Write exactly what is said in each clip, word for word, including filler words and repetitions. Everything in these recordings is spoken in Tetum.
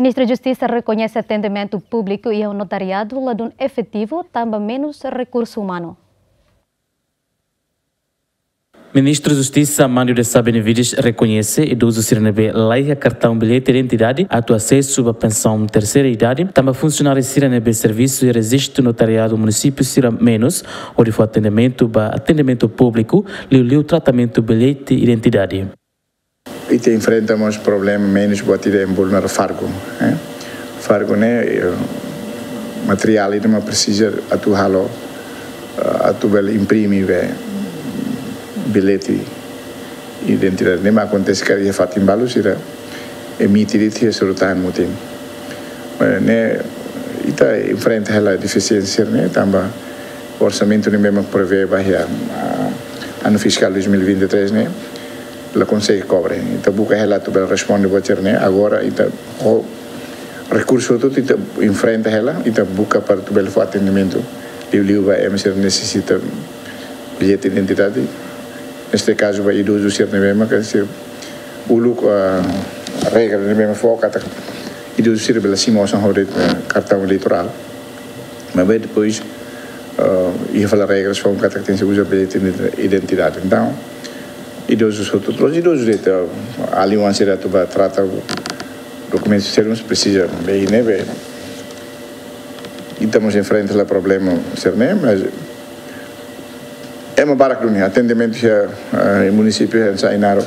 Ministru Justisa rekoñese atendimentu públiku iha notariadu ladún efetivu tanba menus rekursu umanu. Ministru Justisa Armando Desa Benevides rekoñese idozu sira ne'ebé laiha kartaun billete identidade atu asesu ba pensaun terseira idade, tanba funsionáriu sira ne'ebé servisu iha rejistu notariadu munisípiu sira menus, hodi fó atendimentu ba atendimentu públiku, liuliu tratamentu billete identidade. Ita enfrenta mós problema menus buat ida ema bolu naran fargu, eh. Fargu ne'e, eh, materiál ida mak presiza atu halo, eh, atu bele imprime be billete identidade. Ne'e mak akontese karik iha fatin balu sira emite de'it iha suru-tahan mutin. Eh, ne'e ita enfrenta hela defisiénsia ne'e tanba orsamentu ne'ebé mak prevee ba iha, ah, anu fiskál dois mil e vinte e três ne'e la konsege kobre. Ita buka hela atu bele responde buat sira-ne'e. Agora ita ho rekursu hotu ita enfrenta hela, ita buka para atu bele fó atendimentu liuliu ba ema sira nesesita billete identidade. Neste kazu ba idozu sira ne'ebé mak sira uluk, ah, regra ne'ebé mak fó katak idozu sira bele simu osan ho de'it, ah, kartaun eleitorál. Maibé depois, ah, iha fali regras fó katak tenke uza billete identidade. Entaun idozu hotu, la'ós idozu de'it, ah, alin-oan sira atu ba trata dokumentu sira mós presiza be ne'ebé ita mós enfrenta hela problema sira-ne'e, mas ema barak duni atendimentu iha, eh, munisípiu iha Sa'e Inaro.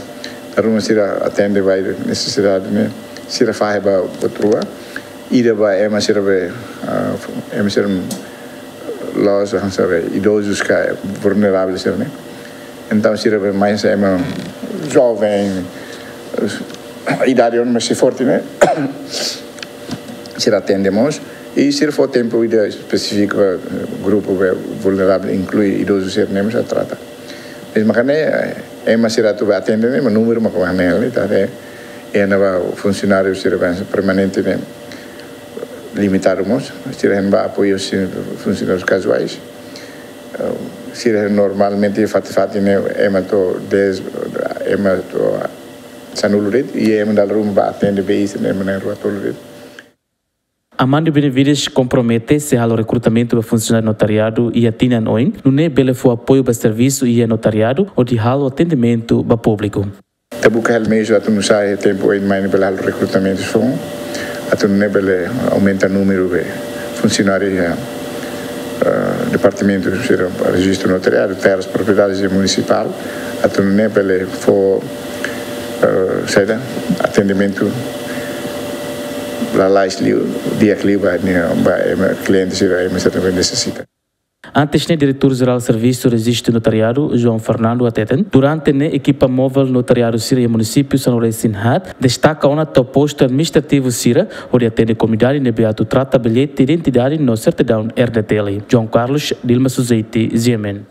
Dala ruma sira atende ba nesesidade ne'e, sira fahe ba buat rua. Ida ba ema sira be, ah, ema sira la'ós, hanesan be idozus ka vulneravel sira-ne'e. Entaun sira be mais ema joven, idade ona mais sei forte ne'e. Sira atende mós. I sira fó tempu ida espesífiku ba grupu be vulneravel, inklui idozu sira-ne'e mós a trata. Mezmu karik ne'e, eh, ema sira atu ba atende ne'e, mas númeru mak hanesan ne'e, ita haree, iha ne'ebá funsionáriu sira be permanente ne'e limitadu mós, sira hein ba apoiu sin funsionárius kazuais. Eh, sira normalmente fatin-fatin ne'e ema to'o dez, ema to'o sanulu de'it, i ema dala ruma ba atende be sira-ne'e ema ruatolu de'it. Armando Benevides kompromete sei halo rekrutamentu ba funsionáriu notariadu iha tinan oin, nune'e bele fó apoiu ba servisu iha notariadu, hodi halo atendimentu ba públiku. Ita buka hela meius atu nu'usá iha tempu oin mai ne'e bele halo rekrutamentu foun, atu nune'e bele aumenta númeru be funsionáriu iha, eh, departamentu sira rejistu notariadu, terras, propriedades munisipál, atu nune'e bele fó, eh, saida, atendimentu lalais liu, di'ak liu ba ne'e, ba ema kliente sira, ema sira ne'ebé nesesita. Antes ne'e, Diretór Jerál Servisu Rejistu Notariadu, João Fernando, hateten, durante ne'e ekipa móvel notariadu sira iha munisípiu sanulu-resin-haat destaka ona to'o postu administrativu sira, hodi atende komunidade ne'ebé atu trata billete identidade no sertidaun R D T L. João Carlos, Dilma Suzeti, G M N.